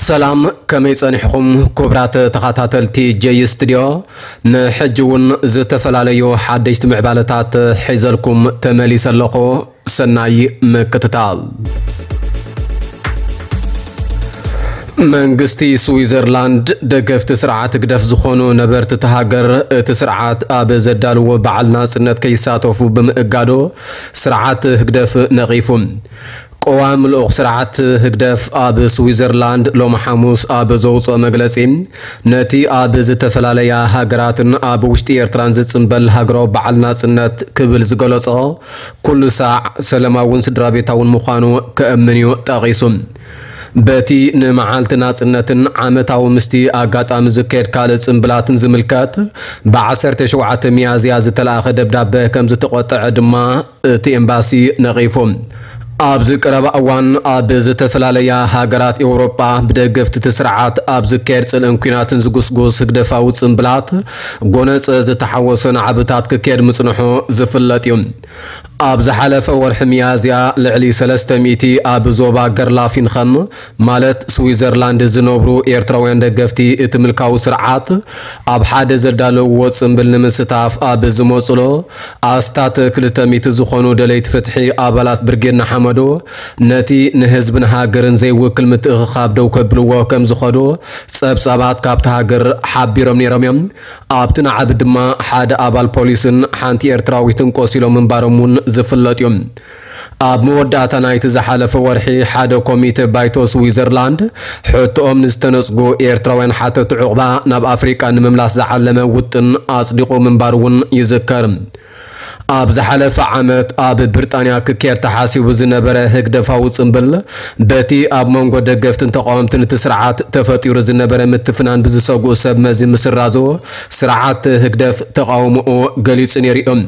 ሰላም፣ ከመይ ጸኒሕኹም ክቡራት ተኸታተልቲ ጀይ ስቱድዮ? ንሕጂ እውን ዝተፈላለዩ ሓደሽቲ ምዕባለታት ሒዘልኩም ተመሊሰ ኣለኹ። ሰናይ ምክትታል። መንግስቲ ስዊዘርላንድ ደገፍቲ ስርዓት ህግደፍ ዝኾኑ ነበርቲ እታ ሃገር፣ እቲ ስርዓት ኣብ ዘዳልዎ በዓል ናጽነት ከይሳተፉ ብምእጋዱ ስርዓት ህግደፍ ነቒፉ። ቀዋሚ ልኡኽ ስርዓት ህግደፍ ኣብ ስዊዘርላንድ ሎሚ ሓሙስ ኣብ ዘውፅኦ መግለፂ፣ ነቲ ኣብ ዝተፈላለያ ሃገራትን ኣብ ውሽጢ ኤርትራን ዝፅምበል ሃገራዊ በዓል ናፅነት ክብል ዝገለጾ፣ ኩሉ ሳዕ ሰላማውን ስድራ ቤታውን ምዃኑ ከእምን እዩ ጠቒሱ። በቲ ንመዓልቲ ናጽነትን ዓመታዊ ምስቲ ኣጋጣሚ ዝካየድ ካልእ ጽምብላትን ዝምልከት፣ ብ ዓሰርተ ሸውዓተ ሚያዝያ ዝተላእኸ ደብዳበ ከም ዝተቖጠዐ ድማ እቲ ኤምባሲ ነቒፉ። ኣብዚ ቀረባ እዋን ኣብ ዝተፈላለያ ሃገራት ኤውሮጳ ብደገፍቲ እቲ ስርዓት ኣብ ዝካየድ ጽልእን ኲናትን ዝጉስጉስ ህግደፋዊ ጽምብላት ጎነጸ ዝተሓወሰ ናዕብታት ክካየድ ምጽንሑ ዝፍለጥ እዩ። ኣብ ዝሓለፈ ወርሒ ሚያዝያ ልዕሊ ሰለስተ ሚእቲ ኣብ ዞባ ገርላፊንኸም ማለት ስዊዘርላንድ ዝነብሩ ኤርትራውያን ደገፍቲ እቲ ምልካዊ ስርዓት ኣብ ሓደ ዘዳለውዎ ጽምብል ንምስታፍ ኣብ ዝመጹሉ ኣስታት ክልተ ሚእቲ ዝኾኑ ደለይቲ ፍትሒ ኣባላት ብርጌድ ንሓመዱ ነቲ ንህዝብን ሃገርን ዘይውክል ምትእኽኻብ ደው ከብልዎ ከም ዝኸዱ ጸብጻባት ካብቲ ሃገር ሓቢሮም ነይሮም እዮም። ኣብቲ ናዕቢ ድማ ሓደ ኣባል ፖሊስን ሓንቲ ኤርትራዊትን ቆሲሎም ምንባሮም እውን ዝፍለጥ እዩ። ኣብ መወዳእታ ናይቲ ዝሓለፈ ወርሒ ሓደ ኮሚተ ባይቶ ስዊዘርላንድ ሕቶኦም ንዝተነጽጉ ኤርትራውያን ሓተቲ ዑቕባ ናብ ኣፍሪቃ ንምምላስ ዝዓለመ ውጥን ኣጽዲቑ ምንባሩ እውን ይዝከር። ኣብ ዝሓለፈ ዓመት ኣብ ብሪጣንያ ክካየድ ተሓሲቡ ዝነበረ ህግደፋዊ ጽምብል በቲ ኣብ መንጎ ደገፍትን ተቓወምትን እቲ ስርዓት ተፈጢሩ ዝነበረ ምትፍናን ብዝሰግኡ ሰብ መዚ ምስራዙ ስርዓት ህግደፍ ተቓውሞኡ ገሊጹ ነይሩ እዩ።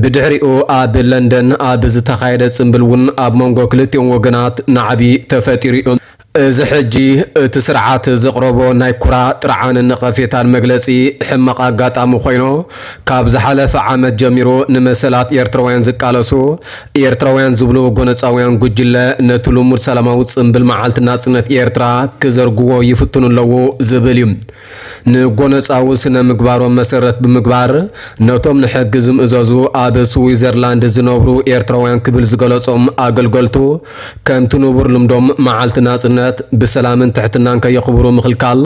ብድሕሪኡ ኣብ ለንደን ኣብ ዝተኻየደ ጽምብል እውን ኣብ መንጎ ክልቲኦም ወገናት ናዕቢ ተፈጢሩ እዩ። እዚ ሕጂ እቲ ስርዓት ዘቕረቦ ናይ ኩራ ጥርዓንን ነቐፌታን መግለጺ ሕማቕ ኣጋጣሚ ኮይኑ፣ ካብ ዝሓለፈ ዓመት ጀሚሩ ንመሰላት ኤርትራውያን ዝቃለሱ ኤርትራውያን ዝብሉ ጎነጻውያን ጉጅለ ነቲ ልሙድ ሰላማዊ ጽምብል መዓልቲ ናጽነት ኤርትራ ክዘርግዎ ይፍትኑ ኣለዉ ዝብል እዩ። ንጎነጻዊ ስነ ምግባሮም መሰረት ብምግባር፣ ነቶም ንሕጊ ዝምእዘዙ ኣብ ስዊዘርላንድ ዝነብሩ ኤርትራውያን ክብል ዝገለጾም ኣገልገልቱ፣ ከምቲ ንቡር ልምዶም መዓልቲ ናጽነት ብሰላምን ትሕትናን ከየኽብሩ ምኽልካል፣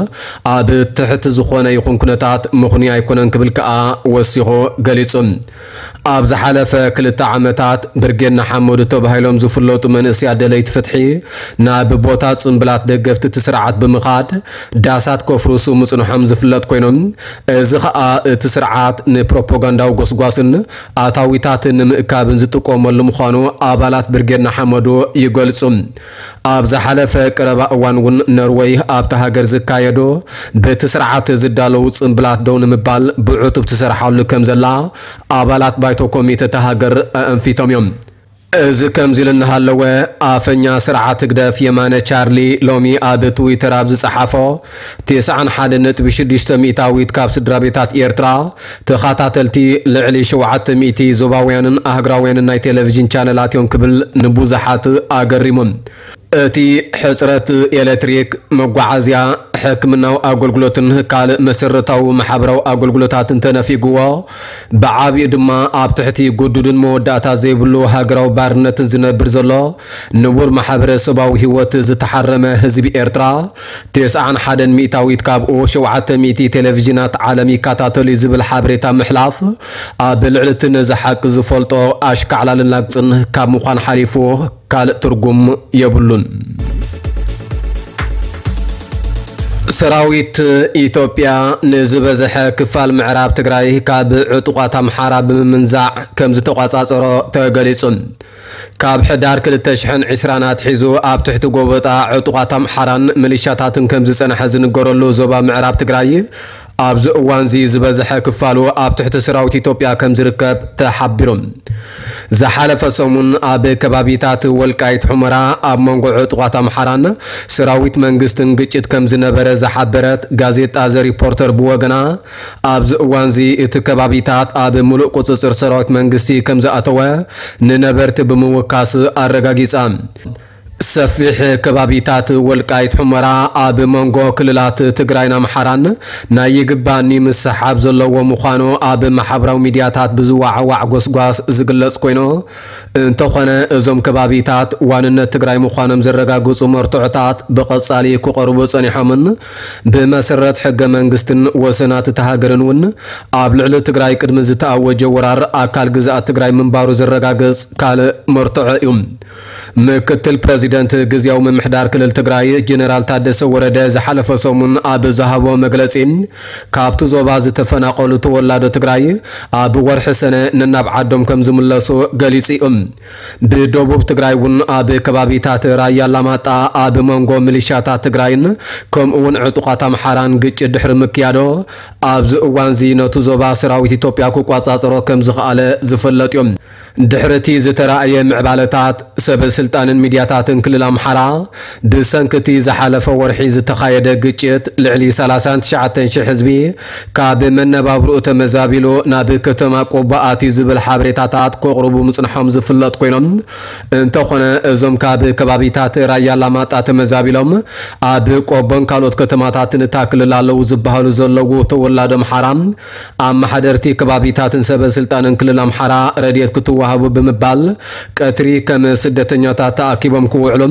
ኣብ ትሕቲ ዝኾነ ይኹን ኩነታት ምኽኑይ ኣይኮነን ክብል ከኣ ወሲኹ ገሊጹ። ኣብ ዝሓለፈ ክልተ ዓመታት ብርጌድ ንሓመዱ ተባሂሎም ዝፍለጡ መንእሰያት ደለይቲ ፍትሒ ናብ ቦታ ጽምብላት ደገፍቲ እቲ ስርዓት ብምኻድ ዳሳት ከፍርሱ ምጽንሖም ዝፍለጥ ኮይኖም፣ እዚ ኸኣ እቲ ስርዓት ንፕሮፓጋንዳዊ ጎስጓስን ኣታዊታትን ንምእካብን ዝጥቀመሉ ምዃኑ ኣባላት ብርጌድ ንሓመዱ ይገልጹ። ኣብ ዝሓለፈ ቀረባ እዋን እውን ኖርወይ ኣብታ ሃገር ዝካየዱ በቲ ስርዓት ዝዳለዉ ጽምብላት ደው ንምባል ብዕቱብ ትሰርሓሉ ከም ዘላ ኣባላት ባይቶ ኮሚተ እታ ሃገር ኣእንፊቶም እዮም። እዚ ከምዚ ኢሉ እናሃለወ፣ ኣፈኛ ስርዓት ህግደፍ የማነ ቻርሊ ሎሚ ኣብ ትዊተር ኣብ ዝጸሓፎ፣ ተስዓን ሓደን ነጥቢ ሽዱሽተ ሚእታዊት ካብ ስድራ ቤታት ኤርትራ ተኸታተልቲ ልዕሊ ሸውዓተ ሚእቲ ዞባውያንን ኣህጉራውያንን ናይ ቴሌቪዥን ቻነላት እዮም ክብል ንብዙሓት ኣገሪሙ። እቲ ሕጽረት ኤሌክትሪክ፣ መጓዓዝያ፣ ሕክምናዊ ኣገልግሎትን ካልእ መሰረታዊ ማሕበራዊ ኣገልግሎታትን ተነፊግዎ፣ ብዓቢኡ ድማ ኣብ ትሕቲ ግዱድን መወዳእታ ዘይብሉ ሃገራዊ ባርነትን ዝነብር ዘሎ ንቡር ማሕበረሰባዊ ህይወት ዝተሓረመ ህዝቢ ኤርትራ፣ ተስዓን ሓደን ሚእታዊት ካብኡ ሸውዓተ ሚእቲ ቴሌቪዥናት ዓለም ይከታተሉ እዩ ዝብል ሓበሬታ ምሕላፍ፣ ኣብ ልዕሊ እቲ ነዚ ሓቂ ዝፈልጦ ኣሽካዕላልን ላግጽን ካብ ምዃን ሓሊፉ ካልእ ትርጉም የብሉን። ሰራዊት ኢትዮጵያ ንዝበዝሐ ክፋል ምዕራብ ትግራይ ካብ ዕጡቓት ኣምሓራ ብምምንዛዕ ከም ዝተቋጻጸሮ ተገሊጹ። ካብ ሕዳር ክልተ ሽሕን ዕስራን ኣትሒዙ ኣብ ትሕቲ ጎበጣ ዕጡቓት ኣምሓራን ሚሊሻታትን ከም ዝጸንሐ ዝንገረሉ ዞባ ምዕራብ ትግራይ፣ ኣብዚ እዋንዚ ዝበዝሐ ክፋሉ ኣብ ትሕቲ ሰራዊት ኢትዮጵያ ከም ዝርከብ ተሓቢሩ። ዝሓለፈ ሰሙን ኣብ ከባቢታት ወልቃይት ሑመራ ኣብ መንጎ ዕጡቓት ኣምሓራን ሰራዊት መንግስትን ግጭት ከም ዝነበረ ዝሓበረት ጋዜጣ ዘ ሪፖርተር ብወገና፣ ኣብዚ እዋንዚ እቲ ከባቢታት ኣብ ምሉእ ቁጽጽር ሰራዊት መንግስቲ ከም ዝኣተወ ንነበርቲ ብምውካስ ኣረጋጊጻ። ሰፊሕ ከባቢታት ወልቃይት ሑመራ ኣብ መንጎ ክልላት ትግራይን ኣምሓራን ናይ ይግባኒ ምስሓብ ዘለዎ ምዃኑ ኣብ ማሕበራዊ ሚድያታት ብዝወዓዋዕ ጎስጓስ ዝግለጽ ኮይኑ፣ እንተኾነ እዞም ከባቢታት ዋንነት ትግራይ ምዃኖም ዘረጋግጹ መርትዖታት ብቐጻሊ ክቐርቡ ጸኒሖምን ብመሰረት ሕገ መንግስትን ወሰናት እታ ሃገርን እውን ኣብ ልዕሊ ትግራይ ቅድሚ ዝተኣወጀ ወራር ኣካል ግዝኣት ትግራይ ምንባሩ ዘረጋግጽ ካልእ መርትዖ እዩ። ምክትል ፕረዚደንት ግዝያዊ ምምሕዳር ክልል ትግራይ ጀነራል ታደሰ ወረደ ዝሓለፈ ሰሙን ኣብ ዝሃቦ መግለጺ፣ ካብቲ ዞባ ዝተፈናቐሉ ተወላዶ ትግራይ ኣብ ወርሒ ሰነ ነናብ ዓዶም ከም ዝምለሱ ገሊጹ እዩ። ብደቡብ ትግራይ እውን ኣብ ከባቢታት ራያ ኣላማጣ ኣብ መንጎ ሚሊሻታት ትግራይን ከምኡ እውን ዕጡቓት ኣምሓራን ግጭት ድሕሪ ምክያዶ ኣብዚ እዋንዚ ነቲ ዞባ ሰራዊት ኢትዮጵያ ክቋጻጸሮ ከም ዝኸኣለ ዝፍለጥ እዩ። ድሕሪ እቲ ዝተራእየ ምዕባለታት፣ ሰበ ስልጣንን ሚድያታትን ክልል ኣምሓራ ብሰንኪ እቲ ዝሓለፈ ወርሒ ዝተኻየደ ግጭት ልዕሊ ሰላሳን ትሽዓተን ሽሕ ህዝቢ ካብ መነባብርኡ ተመዛቢሉ ናብ ከተማ ቆቦ ኣትዩ ዝብል ሓበሬታታት ከቕርቡ ምጽንሖም ዝፍለጥ ኮይኖም፣ እንተኾነ እዞም ካብ ከባቢታት ራያ ኣላማጣ ተመዛቢሎም ኣብ ቆቦን ካልኦት ከተማታትን እታ ክልል ኣለዉ ዝበሃሉ ዘለዉ ተወላዶ ኣምሓራ ኣመሓደርቲ ከባቢታትን ሰበ ስልጣንን ክልል ኣምሓራ ረድኤት ክትወሃቡ ብምባል ቀትሪ ከም ስደተኛታት ተኣኪቦም ክውዕሉ፣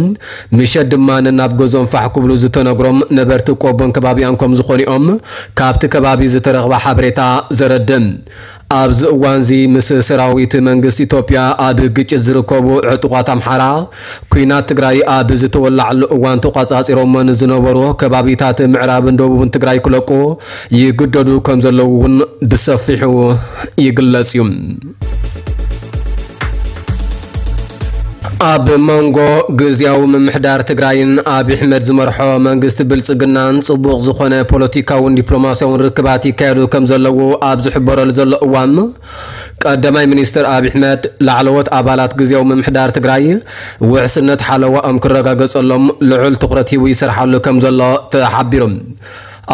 ምሸት ድማ ነናብ ገዝኦም ፋሕ ክብሉ ዝተነግሮም ነበርቲ ቆቦን ከባቢኣን ከም ዝኾኑ እዮም ካብቲ ከባቢ ዝተረኽበ ሓበሬታ ዘረድእ። ኣብዚ እዋንዚ ምስ ሰራዊት መንግስቲ ኢትዮጵያ ኣብ ግጭት ዝርከቡ ዕጡቓት ኣምሓራ፣ ኲናት ትግራይ ኣብ ዝተወላዓሉ እዋን ተቋጻጺሮሞ ንዝነበሩ ከባቢታት ምዕራብን ደቡብን ትግራይ ክለቁ ይግደዱ ከም ዘለዉ እውን ብሰፊሑ ይግለጽ እዩ። ኣብ መንጎ ግዝያዊ ምምሕዳር ትግራይን ኣብይ ኣሕመድ ዝመርሖ መንግስቲ ብልጽግናን ጽቡቕ ዝኾነ ፖለቲካውን ዲፕሎማስያውን ርክባት ይካየዱ ከም ዘለዉ ኣብ ዝሕበረሉ ዘሎ እዋን፣ ቀዳማይ ሚኒስትር ኣብይ ኣሕመድ ላዕለዎት ኣባላት ግዝያዊ ምምሕዳር ትግራይ ውሕስነት ሓለዋኦም ክረጋገጸሎም ልዑል ትኹረት ሂቡ ይሰርሓሉ ከም ዘሎ ተሓቢሩ።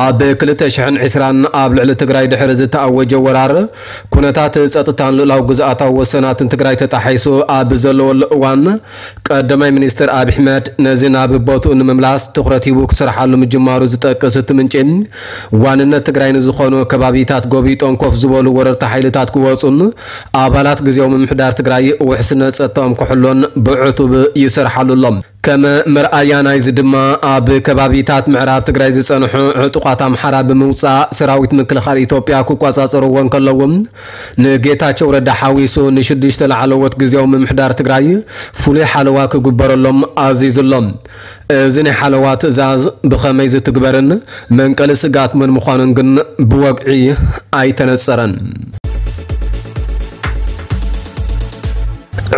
ኣብ ክልተ ሽሕን ዕስራን ኣብ ልዕሊ ትግራይ ድሕሪ ዝተኣወጀ ወራር፣ ኩነታት ጸጥታን ልኡላዊ ግዝኣታዊ ወሰናትን ትግራይ ተጣሒሱ ኣብ ዘለወሉ እዋን፣ ቀዳማይ ሚኒስትር ኣብይ ኣሕመድ ነዚ ናብ ቦትኡ ንምምላስ ትኹረት ሂቡ ክሰርሓሉ ምጅማሩ ዝጠቅስ እቲ ምንጪ፣ ዋንነት ትግራይ ንዝኾኑ ከባቢታት ጎቢጦም ኮፍ ዝበሉ ወረርቲ ሓይልታት ክወፁን ኣባላት ግዝያዊ ምምሕዳር ትግራይ ውሕስነት ጸጥታኦም ክሕሎን ብዕቱብ ይሰርሓሉ ኣሎ። ከም መርኣያ ናይዚ ድማ ኣብ ከባቢታት ምዕራብ ትግራይ ዝጸንሑ ዕጡቓት ኣምሓራ ብምውጻእ ሰራዊት ምክልኻል ኢትዮጵያ ክቆጻጸርዎ እንከለዉ፣ ንጌታቸው ረዳ ሓዊሱ ንሽዱሽተ ላዕለዎት ግዝያዊ ምምሕዳር ትግራይ ፍሉይ ሓለዋ ክግበረሎም ኣዚዙ ኣሎ። እዚ ናይ ሓለዋ ትእዛዝ ብኸመይ ዝትግበርን መንቀሊ ስግኣት መን ምዃኑን ግን ብወግዒ ኣይተነጸረን።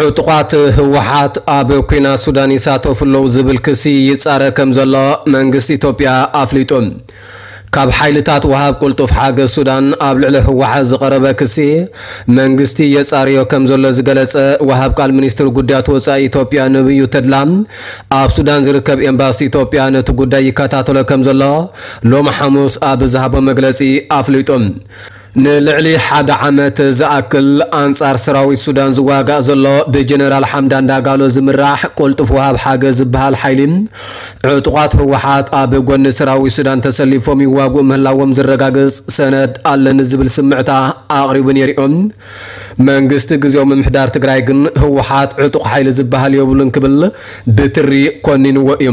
ዕጡቓት ህወሓት ኣብ ኲናት ሱዳን ይሳተፉ ኣለዉ ዝብል ክሲ ይጻረ ከም ዘሎ መንግስቲ ኢትዮጵያ ኣፍሊጡ። ካብ ሓይልታት ወሃብ ቅልጡፍ ሓገዝ ሱዳን ኣብ ልዕሊ ህወሓት ዝቐረበ ክሲ መንግስቲ የጻርዮ ከም ዘሎ ዝገለጸ ወሃብ ቃል ሚኒስትር ጉዳያት ወጻኢ ኢትዮጵያ ነብዩ ተድላ፣ ኣብ ሱዳን ዝርከብ ኤምባሲ ኢትዮጵያ ነቲ ጉዳይ ይከታተሎ ከም ዘሎ ሎሚ ሓሙስ ኣብ ዝሃቦ መግለጺ ኣፍሊጡ። ንልዕሊ ሓደ ዓመት ዝኣክል ኣንጻር ሰራዊት ሱዳን ዝዋጋእ ዘሎ ብጀነራል ሓምዳን ዳጋሎ ዝምራሕ ቅልጡፍ ወሃብ ሓገዝ ዝበሃል ሓይሊ፣ ዕጡቓት ህወሓት ኣብ ጎኒ ሰራዊት ሱዳን ተሰሊፎም ይዋግኡ ምህላዎም ዝረጋግጽ ሰነድ ኣለኒ ዝብል ስምዕታ ኣቕሪቡ ነይሩ እዩ። መንግስቲ ግዝያዊ ምምሕዳር ትግራይ ግን ህወሓት ዕጡቕ ሓይሊ ዝበሃል የብሉን ክብል ብትሪ ኮኒንዎ እዩ።